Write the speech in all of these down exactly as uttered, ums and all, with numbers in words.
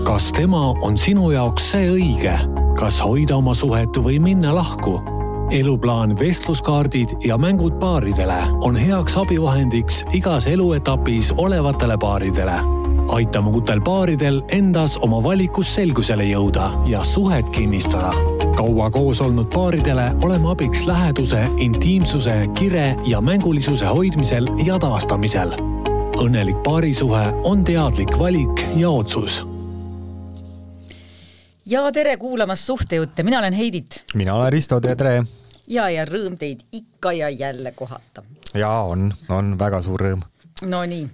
Kas tema on sinu jaoks see õige? Kas hoida oma suhet või minna lahku? Eluplaan, vestluskaardid ja mängud paaridele on heaks abivahendiks igas eluetapis olevatele paaridele. Aitame uutel paaridel endas oma valikus selgusele jõuda ja suhet kinnistada. Kaua koos olnud paaridele oleme abiks läheduse, intiimsuse, kire ja mängulisuse hoidmisel ja taastamisel. Õnnelik paarisuhe on teadlik valik ja otsus. Ja tere kuulamas suhtejutte. Mina olen Heidit. Mina olen Risto, tere. Ja, ja rõõm teid ikka ja jälle kohata. Ja on, on väga suur rõõm. No nii,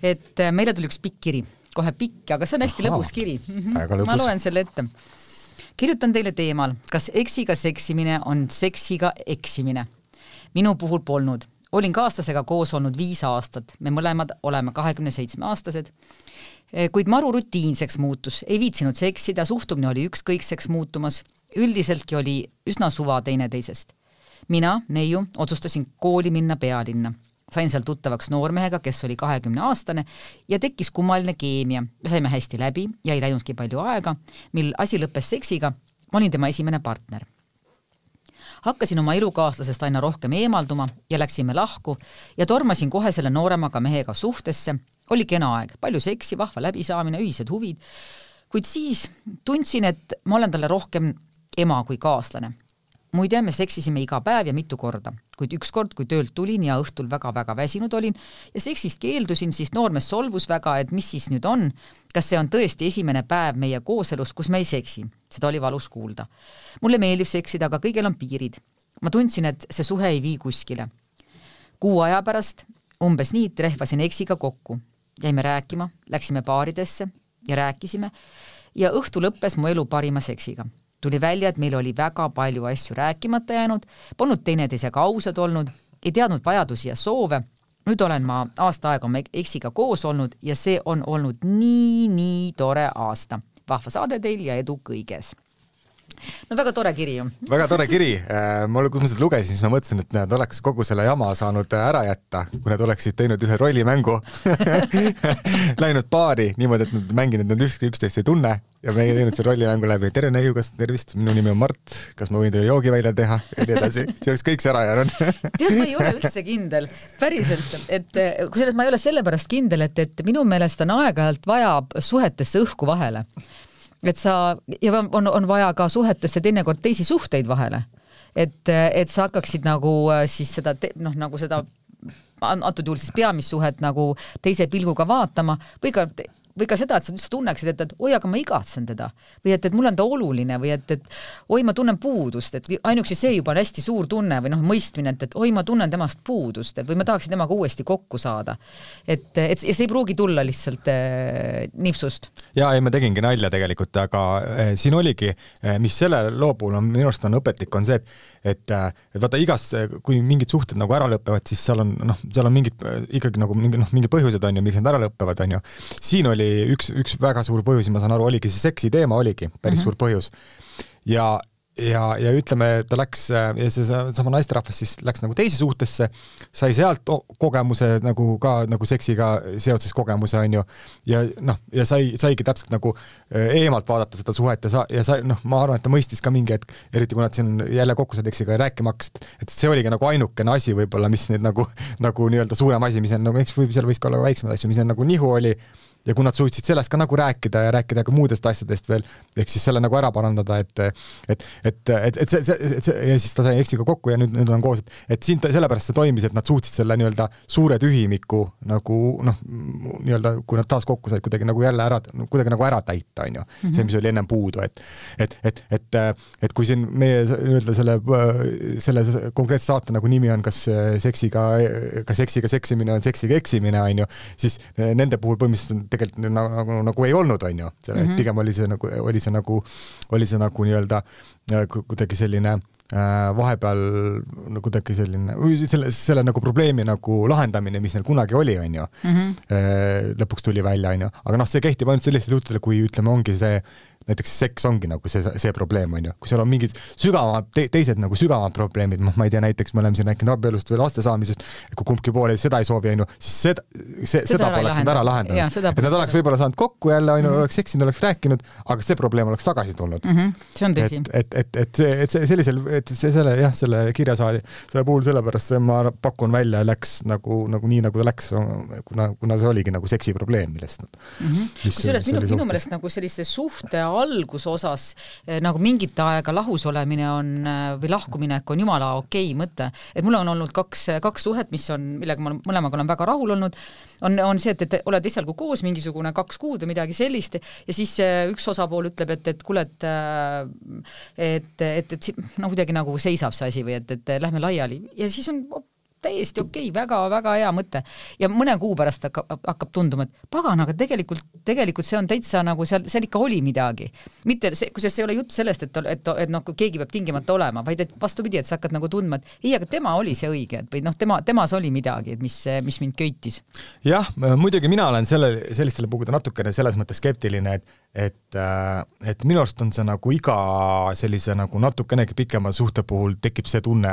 et meile tuli üks pikk kiri. Kohe pikk, aga see on hästi Aha, lõbus kiri. Lõbus. Ma loen selle ette. Kirjutan teile teemal, kas eksiga seksimine on seksiga eksimine. Minu puhul polnud. Olin kaaslasega koos olnud viis aastat. Me mõlemad oleme kahekümne seitsme aastased. Kuid maru rutiinseks muutus, ei viitsinud seksida, suhtumine oli ükskõikseks muutumas, üldiseltki oli üsna suva teine teisest. Mina, neiu, otsustasin kooli minna pealinna. Sain seal tuttavaks noormehega, kes oli kahekümne aastane ja tekkis kummaline keemia. Me saime hästi läbi ja ei läinudki palju aega, mil asi lõppes seksiga, ma olin tema esimene partner. Hakkasin oma elukaaslasest aina rohkem eemalduma ja läksime lahku ja tormasin kohe selle nooremaga mehega suhtesse. Oli kena aeg, palju seksi, vahva läbisaamine, ühised huvid, kuid siis tundsin, et ma olen talle rohkem ema kui kaaslane. Muide, me seksisime iga päev ja mitu korda, kuid üks kord, kui töölt tulin ja õhtul väga-väga väsinud olin ja seksist keeldusin, siis noormees solvus väga, et mis siis nüüd on, kas see on tõesti esimene päev meie kooselus, kus me ei seksi. Seda oli valus kuulda. Mulle meeldib seksida, aga kõigel on piirid. Ma tundsin, et see suhe ei vii kuskile. Kuu aja pärast umbes nii trehvasin eksiga kokku. Jäime rääkima, läksime baaridesse ja rääkisime ja õhtu lõppes mu elu parima seksiga. Tuli välja, et meil oli väga palju asju rääkimata jäänud, polnud teineteisega ausad olnud, ei teadnud vajadusi ja soove. Nüüd olen ma aasta aega oma eksiga koos olnud ja see on olnud nii, nii tore aasta. Vahva saade teil ja edu kõiges. No väga tore kiri ju. Väga tore kiri. Ma, kui ma seda lugesin, siis ma mõtlesin, et nad oleks kogu selle jama saanud ära jätta, kui nad oleksid teinud ühe rollimängu, läinud paari niimoodi, et nad mänginud, et nad ükski üksteist ei tunne ja me ei teinud see rollimängu läbi. Tere neiu, kas tervist? Minu nimi on Mart. Kas ma võin teile joogi välja teha? Ja nii edasi. See oleks kõik see ära jäänud. Tead, ma ei ole üldse kindel. Päriselt, et kui ma ei ole sellepärast kindel, et, et minu meelest on aeg-ajalt vaja suhetesse õhku vahele. Et sa, ja on, on vaja ka suhetesse teinekord teisi suhteid vahele. Et, et sa hakkaksid nagu siis seda, noh, nagu seda antud juhul siis peamissuhet nagu teise pilguga vaatama või ka või ka seda, et sa tunneksid, et, et oi, aga ma igatsen teda või et, et mul on ta oluline või et, et oi, ma tunnen puudust, et ainuksi see juba on hästi suur tunne või noh, mõistmine, et, et oi, ma tunnen temast puudust või ma tahaksin temaga uuesti kokku saada. Et, et see ei pruugi tulla lihtsalt äh, nipsust. Ja ei, ma tegingi nalja tegelikult, aga äh, siin oligi, äh, mis selle loo puhul on, minu arust on õpetlik, on see, et, et, äh, et vaata igas, kui mingid suhted nagu ära lõppevad, siis seal on, noh, seal on mingid äh, ikkagi nagu mingi, noh, mingi põhjused on ju, miks nad ära lõppevad, on ju. Siin oli üks, üks väga suur põhjus, ma saan aru, oligi see seksi teema oligi päris mm-hmm. suur põhjus. Ja, ja, ja ütleme, ta läks, ja see sama naisterahvas siis läks nagu teise suhtesse, sai sealt kogemuse nagu ka nagu seksiga seoses kogemuse, on ju, ja noh, ja sai, saigi täpselt nagu eemalt vaadata seda suhet ja, sa, ja sai, noh, ma arvan, et ta mõistis ka mingi hetk, eriti kui nad siin jälle kokku said eksiga rääkima hakkasid, et see oligi nagu ainukene asi võib-olla, mis nüüd nagu, nagu nii-öelda suurem asi, mis on nagu, eks võib, seal võis ka olla väiksemad asju, mis on nagu nihu oli, ja kui nad suutsid sellest ka nagu rääkida ja rääkida ka muudest asjadest veel, ehk siis selle nagu ära parandada, et, et, et, et, et see, see, see, ja siis ta sai eksiga kokku ja nüüd, nüüd on koos, et, et siin ta, sellepärast see toimis, et nad suutsid selle nii-öelda suure tühimiku nagu, noh, nii-öelda, kui nad taas kokku said, kuidagi nagu jälle ära, kuidagi nagu ära täita, on ju, mm-hmm. see, mis oli ennem puudu, et, et, et, et, et kui siin meie nii-öelda selle, selle konkreetse saate nagu nimi on, kas seksiga, kas seksiga seksimine on seksiga eksimine, on ju, siis nende puhul põhimõtteliselt tegelikult nagu, nagu, nagu ei olnud, on ju. Mm-hmm. Pigem oli see nagu, oli see nagu, oli see nagu nii-öelda kuidagi selline äh, vahepeal nagu kuidagi selline, selle, selle nagu probleemi nagu lahendamine, mis neil kunagi oli, on ju. Mm-hmm. Äh, lõpuks tuli välja, on ju. Aga noh, see kehtib ainult sellistel juhtudel, kui ütleme, ongi see näiteks seks ongi nagu see, see probleem on ju, kui seal on mingid sügavamad, te, teised nagu sügavamad probleemid, ma ei tea, näiteks me oleme siin rääkinud abielust või laste saamisest, kui kumbki pool seda ei soovi, on ju, siis seda, see, seda, seda poleks nad ära lahendanud. Et nad oleks võib-olla saanud kokku jälle, on ju, oleks seksinud, oleks rääkinud, aga see probleem oleks tagasi tulnud. Mm -hmm. See on tõsi. Et, et, et, et, see, et see sellisel, et see selle, jah, selle kirjasaadi selle puhul sellepärast see ma pakun välja läks nagu, nagu nii, nagu ta läks, kuna, kuna see oligi nagu seksi probleem, millest nad mm -hmm. kusjuures minu, minu meelest nagu sellise suhte alguse osas nagu mingit aega lahus olemine on või lahkuminek on jumala okei mõte. Et mul on olnud kaks, kaks suhet, mis on, millega ma mõlemaga olen väga rahul olnud, on, on see, et, et oled esialgu koos mingisugune kaks kuud või midagi sellist ja siis üks osapool ütleb, et, et kuule, et et, et, et no kuidagi nagu seisab see asi või et, et lähme laiali ja siis on täiesti okei, väga-väga hea mõte. Ja mõne kuu pärast hakkab, hakkab tunduma, et pagan, aga tegelikult, tegelikult see on täitsa nagu seal, seal ikka oli midagi. Mitte see, kusjuures see ei ole jutt sellest, et, et, et noh, keegi peab tingimata olema, vaid et vastupidi, et sa hakkad nagu tundma, et ei, aga tema oli see õige, et või noh, tema, temas oli midagi, et mis, mis mind köitis. Jah, muidugi mina olen selle, sellistele puhuda natukene selles mõttes skeptiline, et et, et minu arust on see nagu iga sellise nagu natukenegi pikema suhte puhul tekib see tunne,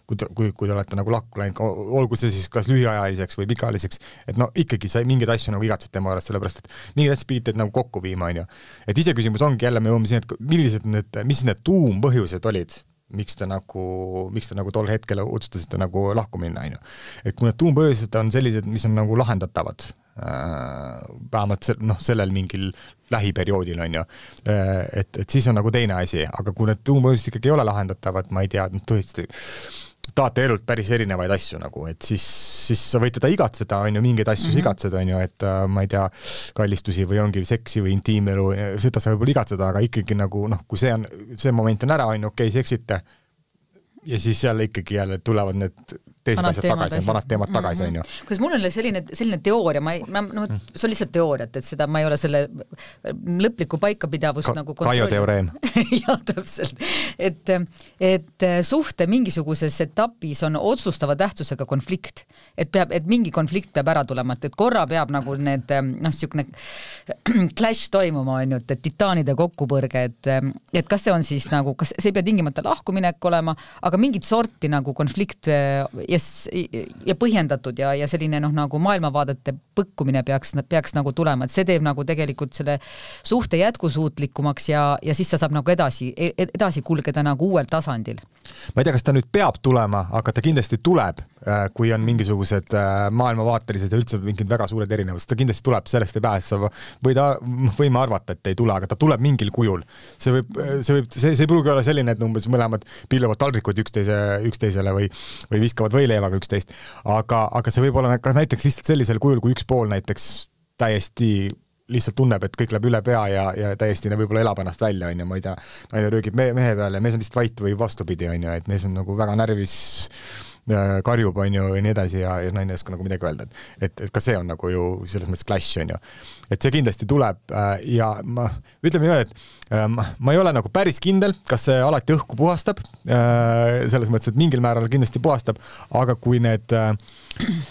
kui, kui, kui te olete nagu lahku läinud, olgu see siis kas lühiajaliseks või pikaajaliseks, et no ikkagi sa mingeid asju nagu igatsed tema juures, sellepärast et mingid asjad pidid nagu kokku viima, on ju. Et ise küsimus ongi jälle, me jõuame siin, et millised need, mis need tuumpõhjused olid, miks te nagu, miks te nagu tol hetkel otsustasite nagu lahku minna, on ju. Et kui need tuumpõhjused on sellised, mis on nagu lahendatavad, vähemalt se, noh, sellel mingil lähiperioodil on ju, et, et siis on nagu teine asi, aga kui need tuumpõhjused ikkagi ei ole lahendatavad, ma ei tea, tõesti tahate elult päris erinevaid asju nagu, et siis, siis sa võid teda igatseda, on ju, mingeid asju mm -hmm. igatseda, on ju, et ma ei tea, kallistusi või ongi seksi või intiimelu, seda sa võib-olla igatseda, aga ikkagi nagu, noh, kui see on, see moment on ära, on ju, okei, okay, seksite ja siis jälle ikkagi jälle tulevad need teised asjad tagasi, vanad teemad tagasi, on ju. Kuidas mul on selline, selline teooria, ma ei, ma, no, see on lihtsalt teooriat, et seda ma ei ole selle lõplikku paikapidavust Ka, nagu kontrolli. Kaio teoreem. Jah, täpselt. Et, et suhte mingisuguses etapis on otsustava tähtsusega konflikt. Et, peab, et mingi konflikt peab ära tulema, et korra peab nagu need, noh, sükne clash toimuma, on ju, et titaanide kokkupõrge, et, et kas see on siis nagu, kas see ei pea tingimata lahkuminek olema, aga mingit sorti nagu konflikt ja, ja põhjendatud ja, ja selline noh, nagu maailmavaadete põkkumine peaks, peaks nagu tulema, et see teeb nagu tegelikult selle suhte jätkusuutlikumaks ja, ja siis sa saab nagu edasi, edasi kulgeda nagu uuel tasandil. Ma ei tea, kas ta nüüd peab tulema, aga ta kindlasti tuleb, kui on mingisugused maailmavaatelised ja üldse mingid väga suured erinevused, ta kindlasti tuleb, sellest ei pääse, või ta, võime arvata, et ei tule, aga ta tuleb mingil kujul. See võib, see võib, see, see ei pruugi olla selline, et umbes mõlemad pilluvad taldrikud üksteise, üksteisele või, või viskavad võileivaga üksteist, aga, aga see võib olla ka näiteks lihtsalt sellisel kujul, kui üks pool näiteks täiesti lihtsalt tunneb, et kõik läheb üle pea ja, ja täiesti võib-olla elab ennast välja, on ju, ma ei tea, naine röögib mehe, mehe peale ja mees on lihtsalt vait või vastupidi, on ju, et mees on nagu väga närvis, karjub, on ju, ja nii edasi ja, ja naine ei oska nagu midagi öelda, et, et, et ka see on nagu ju selles mõttes clash, on ju. Et see kindlasti tuleb ja ma ütleme nii, et ma ei ole nagu päris kindel, kas see alati õhku puhastab, selles mõttes, et mingil määral kindlasti puhastab, aga kui need,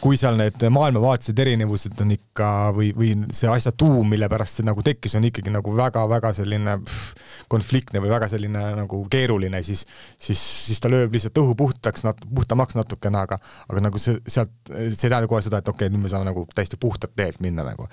kui seal need maailmavaatised erinevused on ikka või, või see asja tuum, mille pärast see nagu tekkis, on ikkagi nagu väga-väga selline pff, konfliktne või väga selline nagu keeruline, siis, siis, siis ta lööb lihtsalt õhu puhtaks, nat, puhtamaks natukene, aga, aga nagu see, sealt, see ei tähenda kohe seda, et okei, okay, nüüd me saame nagu täiesti puhtalt teelt minna nagu.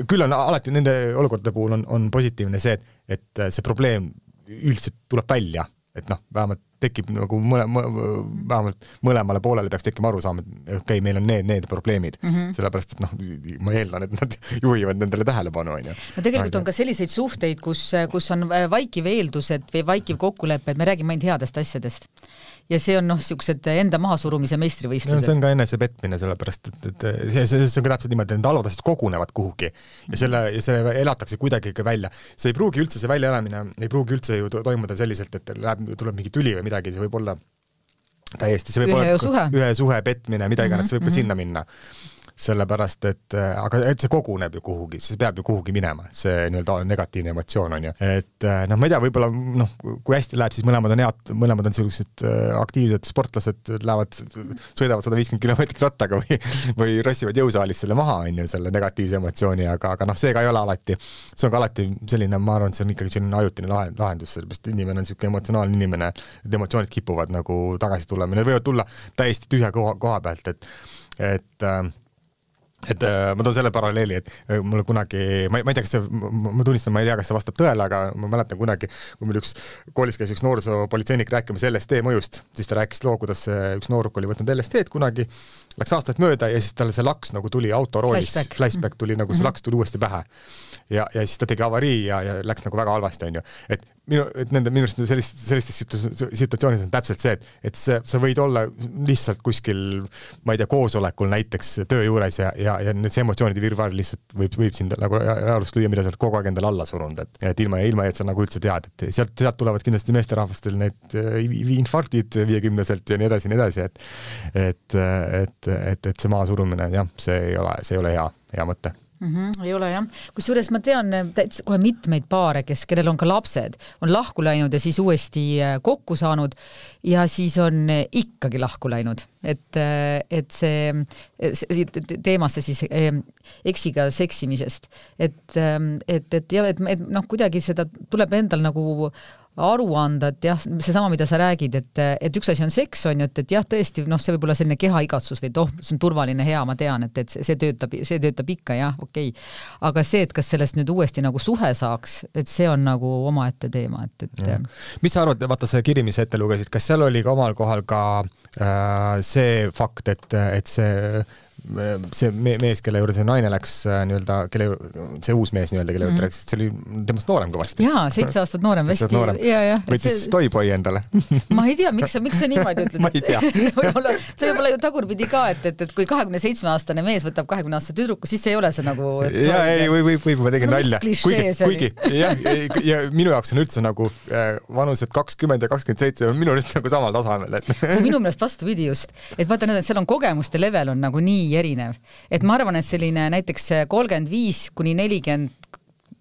Küll on alati nende olukordade puhul on, on positiivne see, et, et see probleem üldse tuleb välja, et noh, vähemalt tekib nagu mõle, vähemalt mõlemale poolele peaks tekkima aru saama, et okei, okay, meil on need, need probleemid, mm -hmm. sellepärast, et noh, ma eeldan, et nad juhivad nendele tähelepanu, on ju. No tegelikult on ka selliseid suhteid, kus, kus on vaikiv eeldused või vaikiv kokkulepe, et me räägime ainult headest asjadest. Ja see on noh, siuksed enda mahasurumise meistrivõistlused. No, see on ka enese petmine, sellepärast, et, et see, see, see on ka täpselt niimoodi, et need halvad asjad kogunevad kuhugi ja selle, ja see elatakse kuidagi välja. See ei pruugi üldse, see väljaelamine ei pruugi üldse ju toimuda selliselt, et läheb, tuleb mingi tüli või midagi, see võib olla täiesti, see võib ühe olla suhe. ühe suhe petmine, mida iganes, see võib ka mm -hmm. sinna minna. sellepärast, et aga et see koguneb ju kuhugi, see peab ju kuhugi minema, see nii-öelda negatiivne emotsioon on ju. Et noh, ma ei tea, võib-olla noh, kui hästi läheb, siis mõlemad on head, mõlemad on sellised aktiivsed sportlased, lähevad, sõidavad sada viiskümmend kilomeetrit rattaga või, või rassivad jõusaalis selle maha, on ju, selle negatiivse emotsiooni, aga, aga noh, see ka ei ole alati, see on ka alati selline, ma arvan, et see on ikkagi selline ajutine lahendus, sellepärast inimene on selline emotsionaalne inimene, et emotsioonid kipuvad nagu tagasi tulema, need võivad tulla täiesti tühja koha, koha pealt, et, et et ma toon selle paralleeli, et mulle kunagi, ma ei, ma ei tea, kas see, ma tunnistan, ma ei tea, kas see vastab tõele, aga ma mäletan kunagi, kui meil üks koolis käis üks noorsoopolitseinik rääkima L S D mõjust, siis ta rääkis loo, kuidas üks nooruk oli võtnud L S D-d kunagi, läks aastaid mööda ja siis talle see laks nagu tuli autoroolis, flashback, flashback tuli nagu, see laks tuli uuesti pähe. Ja, ja siis ta tegi avarii ja, ja läks nagu väga halvasti, on ju. Et minu, et nende minust sellist, sellistes situatsioonides on täpselt see, et, et see, sa võid olla lihtsalt kuskil, ma ei tea, koosolekul näiteks töö juures ja, ja, ja need see emotsioonide virvar lihtsalt võib, võib sind nagu reaalust lüüa, mida sa oled kogu aeg endale alla surunud, et, et ilma, ilma, et sa nagu üldse tead, et sealt, sealt tulevad kindlasti meesterahvastel need infarktid viiekümneselt ja nii edasi, nii edasi, et, et, et, et, et see maa surumine, jah, see ei ole, see ei ole hea, hea mõte. Mm -hmm, ei ole jah. Kusjuures ma tean kohe mitmeid paare, kes, kellel on ka lapsed, on lahku läinud ja siis uuesti kokku saanud ja siis on ikkagi lahku läinud. Et, et see, see teemasse siis eksiga seksimisest. Et, et, et, ja, et, et noh, kuidagi seda tuleb endal nagu aru anda, et jah, see sama, mida sa räägid, et, et üks asi on seks, on ju, et, et jah, tõesti, noh, see võib olla selline kehaigatsus või oh, see on turvaline, hea, ma tean, et, et see töötab, see töötab ikka, jah, okei. Okay. Aga see, et kas sellest nüüd uuesti nagu suhe saaks, et see on nagu omaette teema, et, et ja. Mis sa arvad, vaata see kiri, mis ette lugesid, kas seal oli ka omal kohal ka äh, see fakt, et, et see see mees, kelle juurde see naine läks nii-öelda, kelle, see uus mees nii-öelda, kelle juurde läks, see oli temast noorem kõvasti. Jaa, seitse aastat noorem vesti. Ja, ja, võttis see... toiboi endale. Ma ei tea, miks, miks sa niimoodi ütled? Ma ei tea. Võib-olla, see võib olla ju tagurpidi ka, et, et, et kui kahekümne seitsme aastane mees võtab kahekümne aastase tüdruku, siis see ei ole see nagu... Jaa, ei, või, või, või ma tegin no, nalja. Kuigi, kuigi jah, ja minu jaoks on üldse nagu vanused kakskümmend ja kakskümmend seitse on minu meelest nagu samal tasemel. Et... See minu meelest vastupidi just. Et vaata, seal on kogemuste level on nagu nii erinev. Et ma arvan, et selline näiteks kolmkümmend viis kuni nelikümmend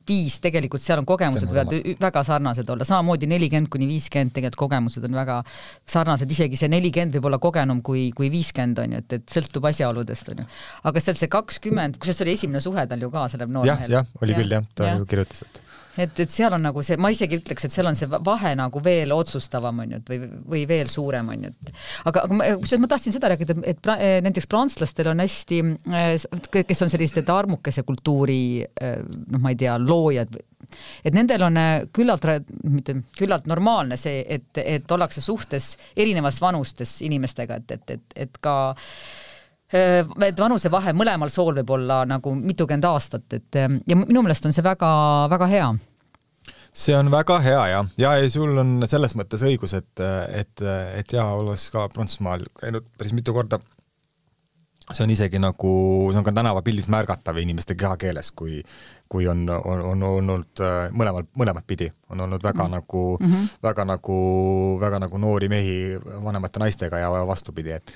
viis tegelikult seal on kogemused võivad väga sarnased olla. Samamoodi nelikümmend kuni viiskümmend tegelikult kogemused on väga sarnased. Isegi see nelikümmend võib olla kogenum kui, kui viiskümmend on ju, et, et sõltub asjaoludest on ju. Aga seal see kakskümmend, kus see oli esimene suhe tal ju ka selle noormehel. Jah, jah, oli ja, küll jah, ta ja. Kirjutas, et Et, et seal on nagu see, ma isegi ütleks, et seal on see vahe nagu veel otsustavam on ju, või, või veel suurem on ju. Aga, aga ma, ma tahtsin seda rääkida, et pra, näiteks prantslastel on hästi, kes on sellised armukese kultuuri, noh ma ei tea, loojad, et nendel on küllalt, mitte, küllalt normaalne see, et, et ollakse suhtes erinevas vanustes inimestega, et, et, et, et ka et vanuse vahe mõlemal sool võib olla nagu mitukümmend aastat, et ja minu meelest on see väga, väga hea. See on väga hea ja, ja sul on selles mõttes õigus, et, et, et ja olles ka Prantsusmaal käinud päris mitu korda, see on isegi nagu, see on ka tänavapildis märgatav inimeste kehakeeles, kui, kui on, on, on olnud mõlemal, mõlemat pidi, on olnud väga mm. nagu, mm-hmm. väga nagu, väga nagu noori mehi vanemate naistega ja vastupidi, et,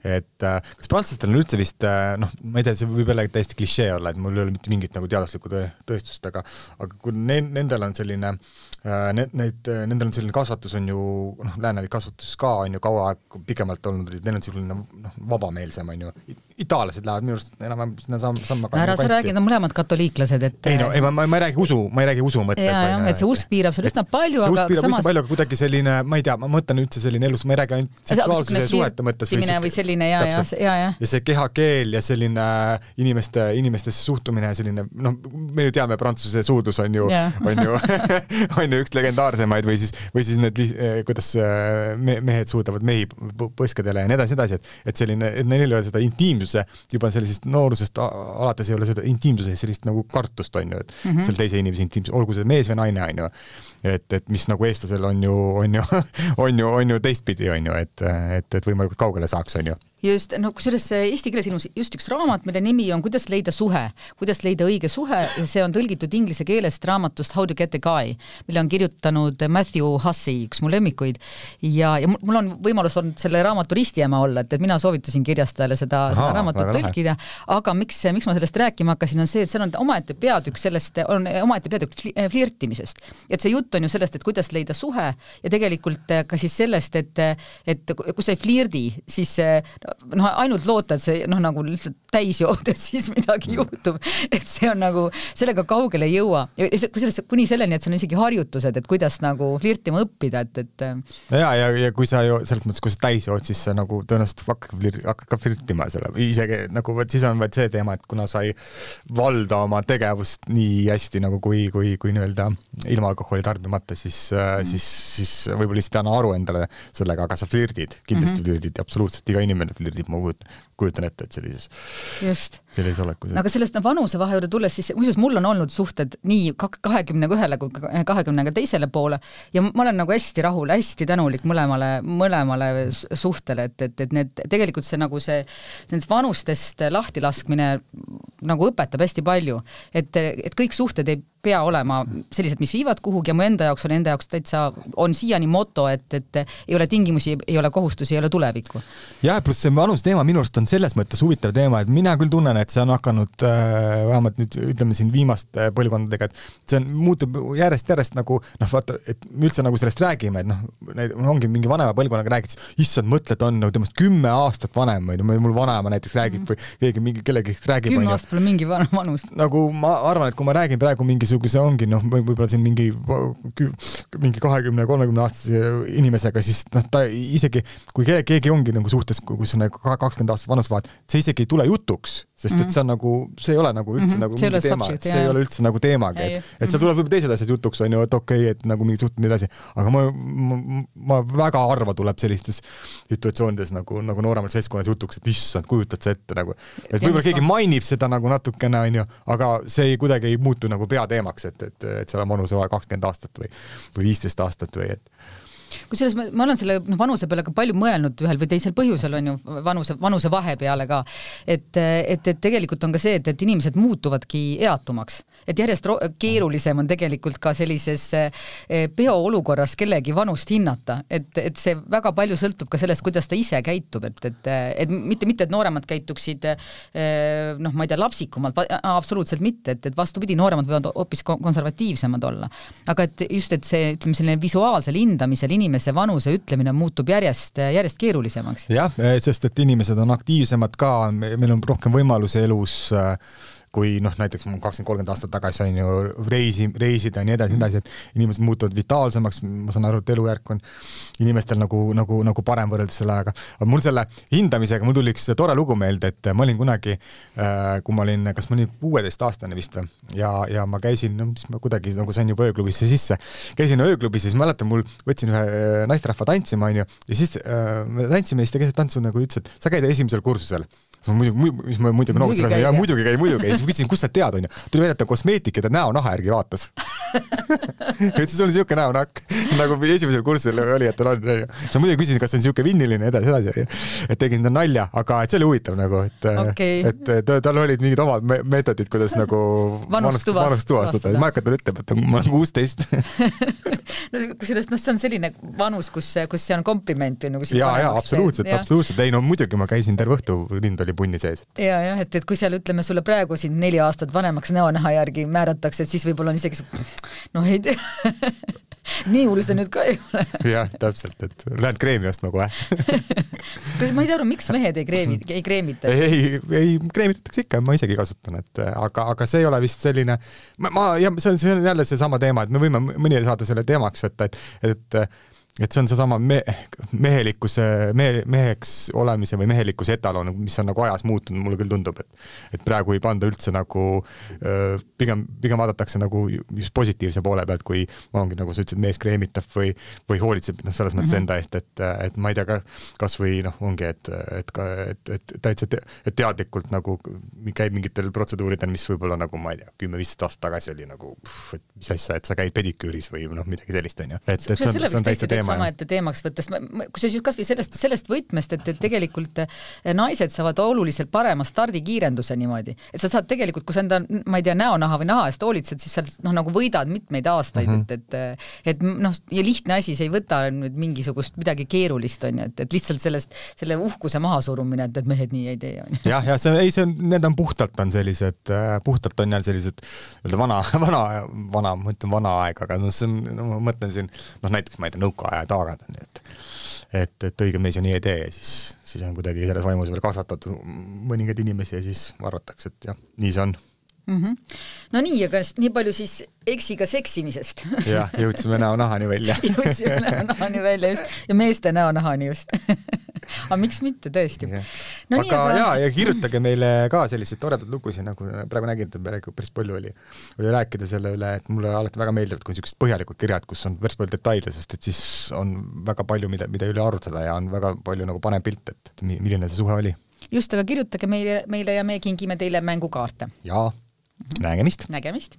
et kas prantslastel on üldse vist, noh, ma ei tea, see võib jälle täiesti klišee olla, et mul ei ole mitte mingit nagu teaduslikku tõestust, aga, aga kui ne, nendel on selline, ne, neid, nendel on selline kasvatus on ju, noh, läänelik kasvatus ka on ju kaua aeg pikemalt olnud, neil on selline noh, vabameelsem on ju, itaallased lähevad minu arust enam sinna samma ära sa räägid, on mõlemad katoliiklased, et ei no, ei, ma, ma ei räägi usu, ma ei räägi usu mõttes. Ja, ja, et see usk piirab seal üsna palju, see aga piirab samas... üsna palju, aga kuidagi selline, ma ei tea, ma mõtlen üldse selline elus, ma ei räägi ainult seksuaalsuse suhete mõttes. Või, või selline, ja, ja, ja, ja. Ja see kehakeel ja selline inimeste, inimestesse suhtumine ja selline, noh, me ju teame, Prantsuse suudlus on ju, on ju, on ju üks legendaarsemaid või siis, või siis need, kuidas mehed suudavad mehi põskadele ja nii edasi, edasi, et, et selline, et neil ei ole seda intiimsuse, juba sellisest noorusest alates ei ole seda intiimsuse sellist nagu kartust on ju, et mm -hmm. seal teise inimese intiimsus, olgu see mees või naine on ju, et, et mis nagu eestlasel on ju, on ju, on ju, on ju teistpidi on ju, et, et, et võimalikult kaugele saaks on ju. Just, no kusjuures eesti keeles ilmus just üks raamat, mille nimi on Kuidas leida suhe, kuidas leida õige suhe, see on tõlgitud inglise keelest raamatust How to get a guy, mille on kirjutanud Matthew Hussey, üks mu lemmikuid, ja, ja mul on võimalus olnud selle raamatu ristiema olla, et, et mina soovitasin kirjastajale seda, seda raamatut tõlkida, aga miks, miks ma sellest rääkima hakkasin, on see, et seal on omaette peatükk sellest, on omaette peatükk flirtimisest. Et see jutt on ju sellest, et kuidas leida suhe ja tegelikult ka siis sellest, et, et kui sa ei flirdi, siis noh, ainult loota, et see noh, nagu lihtsalt täis jooda, siis midagi juhtub. Et see on nagu, sellega kaugele ei jõua. Ja kui sellest, kuni selleni, et see on isegi harjutused, et kuidas nagu flirtima õppida, et, et ja, ja, ja kui sa ju, selles mõttes, kui sa täis jood, siis sa nagu tõenäoliselt hakkab ka flirtima selle. Isegi nagu, võt, siis on vaid see teema, et kuna sa ei valda oma tegevust nii hästi nagu kui, kui, kui nii-öelda ilma alkoholi tarbimata, siis, mm. siis, siis võib-olla lihtsalt anna aru endale sellega, aga sa flirdid, kindlasti mm-hmm. flirdid, absoluutselt iga inimene flirdib, ma kujutan ette, et sellises, sellises olekus. Aga sellest vanuse vahe juurde tulles, siis muuseas mul on olnud suhted nii kahekümne ühele kui kahekümne teisele poole ja ma olen nagu hästi rahul, hästi tänulik mõlemale, mõlemale suhtele, et, et, et need, tegelikult see nagu see nendest vanustest lahtilaskmine nagu õpetab hästi palju, et, et kõik suhted ei pea olema sellised, mis viivad kuhugi ja mu enda jaoks on enda jaoks täitsa, on siiani moto, et, et ei ole tingimusi, ei ole kohustusi, ei ole tulevikku. Ja pluss see vanus teema minu arust on selles mõttes huvitav teema, et mina küll tunnen, et see on hakanud äh, vähemalt nüüd ütleme siin viimaste põlvkondadega, et see on, muutub järjest-järjest nagu, noh vaata, et me üldse nagu sellest räägime, et noh, ongi mingi vanema põlvkonnaga räägid, issand mõtled on nagu temast kümme aastat vanem, või mul vanema näiteks räägib või keegi mingi kellegi räägib. Kümme aastat pole mingi vanus. Nagu ma arvan, et kui ma räägin praegu mingi kui see ongi, noh, võib-olla siin mingi mingi kahekümne kolmekümne aastase inimesega, siis noh, ta isegi, kui keegi ongi nagu suhtes, kus on kakskümmend aastat vanus vaat, see isegi ei tule jutuks, sest et see on nagu, see ei ole nagu üldse mm-hmm. nagu mingi teema, subject, see ei ole üldse nagu teemagi, et, et seal tuleb võib-olla teised asjad jutuks, on ju, et okei, okay, et nagu mingi suhted nii edasi, aga ma, ma, ma väga harva tuleb sellistes situatsioonides nagu, nagu nooremal seltskonnas jutuks, et issand, kujutad see ette nagu, et võib-olla keegi mainib seda nagu natukene, on ju, aga see ei kuidagi ei muutu nagu peateemaks, et, et, et seal on vanuse vaja kakskümmend aastat või, või viisteist aastat või et kusjuures ma, ma olen selle no, vanuse peale ka palju mõelnud ühel või teisel põhjusel on ju vanuse, vanuse vahe peale ka, et, et, et tegelikult on ka see, et, et inimesed muutuvadki eatumaks, et järjest keerulisem on tegelikult ka sellises peoolukorras kellegi vanust hinnata, et, et see väga palju sõltub ka sellest, kuidas ta ise käitub, et, et, et mitte, mitte, et nooremad käituksid noh, ma ei tea, lapsikumalt, absoluutselt mitte, et, et vastupidi, nooremad võivad hoopis konservatiivsemad olla, aga et just, et see, ütleme, selline visuaalsel hindamisel inimese vanuse ütlemine muutub järjest, järjest keerulisemaks. Jah, sest et inimesed on aktiivsemad ka, meil on rohkem võimalusi elus, kui noh, näiteks kakskümmend kolmkümmend aastat tagasi on ju reisi, reisida ja nii edasi, nii edasi, et inimesed muutuvad vitaalsemaks, ma saan aru, et elujärk on inimestel nagu, nagu, nagu parem võrreldes selle ajaga. Aga mul selle hindamisega, mul tuli üks tore lugu meelde, et ma olin kunagi, kui ma olin, kas ma olin kuueteist aastane vist või, ja, ja ma käisin, no mis ma kuidagi nagu sain juba ööklubisse sisse, käisin ööklubisse, siis mäletan, mul võtsin ühe naisterahva tantsima, on ju, ja siis äh, me tantsime, siis ta keset tantsu nagu ütles, et sa käid esimesel kursusel. Ma muidugi, mis ma muidugi noogusin, ja muidugi käi, muidugi käi, siis küsisin, kus sa tead, on ju. Tuli välja, et ta kosmeetik ja ta näonaha järgi vaatas. et siis oli siuke näonakk, nagu esimesel kursusel oli, et ta on, sa muidugi küsisin, kas on siuke vinniline edasi, edasi, et tegin ta nalja, aga see oli huvitav nagu, et, okay. et tal olid mingid omad meetodid, kuidas nagu vanust, vanust tuvastada. Ma hakkan ütlema, et ma olen kuusteist. no, kusjuures no, see on selline vanus, kus, kus see on kompliment. Nagu ja, ja, absoluutselt, ja. absoluutselt. Ei, no muidugi ma käisin terve õhtu, lind oli punni sees. Ja, ja, et, et kui seal ütleme sulle praegu siin neli aastat vanemaks näonaha järgi määratakse, et siis võib-olla on isegi noh, ei tea. nii hull see nüüd ka ei ole. jah, täpselt, et lähed kreemi ostma kohe. Kas ma ei saa aru, miks mehed ei kreemi, ei kreemita? Ei, ei, ei kreemitatakse ikka, ma isegi kasutan, et aga, aga see ei ole vist selline, ma, ma ja see on, see on jälle see sama teema, et me võime mõni saada selle teemaks võtta, et, et et see on see sama me, mehelikkuse, mehe, meheks olemise või mehelikkuse etalon, mis on nagu ajas muutunud, mulle küll tundub, et, et praegu ei panda üldse nagu öö, pigem, pigem vaadatakse nagu just positiivse poole pealt, kui ma ongi nagu sa ütlesid, mees kreemitab või, või hoolitseb no, selles mõttes mm -hmm. enda eest, et, et ma ei tea, kas või noh, ongi, et, et, et, et täitsa te, et teadlikult nagu käib mingitel protseduuridel, mis võib-olla nagu, ma ei tea, kümme-viisteist aastat tagasi oli nagu, pff, et mis asja, et sa käid pediküüris või noh, midagi sellist on ju. Et, et see on, see on täitsa teema. Sama ette teemaks võttes, kui see just kasvõi sellest, sellest võtmest, et, et tegelikult naised saavad oluliselt parema stardikiirenduse niimoodi, et sa saad tegelikult, kui sa enda, ma ei tea, näonaha või naha eest hoolitsed, siis sa noh, nagu võidad mitmeid aastaid, mm -hmm. et, et, et noh, ja lihtne asi, see ei võta nüüd mingisugust midagi keerulist, on ju, et, et lihtsalt sellest, selle uhkuse maha surumine, et, et mehed nii ei tee, on ju. jah, ja see, ei, see on, need on puhtalt on sellised, puhtalt on jälle sellised vana, vana, vana, ma ütlen vana aeg, aga no see on, no ma mõtlen siin, noh näiteks ma ei tea, nõukaaja taagad on, et et, et õige mees ju nii ei tee ja siis, siis on kuidagi selles vaimus veel kasvatatud mõningaid inimesi ja siis arvatakse, et jah, nii see on. Mm -hmm. No nii, aga nii palju siis eksiga seksimisest. jah, jõudsime näonahani välja. jõudsime näonahani välja just ja meeste näonahani just. aga miks mitte, tõesti. No, aga, aga jaa, ja kirjutage meile ka selliseid toredad lugusid, nagu praegu nägin, et päris palju oli, oli rääkida selle üle, et mulle alati väga meeldivad, kui niisugused põhjalikud kirjad, kus on päris palju detaile, sest et siis on väga palju, mida, mida üle arutada ja on väga palju nagu panem pilt, et milline see suhe oli. Just, aga kirjutage meile, meile ja me kingime teile mängukaarte. Jaa, nägemist. Nägemist.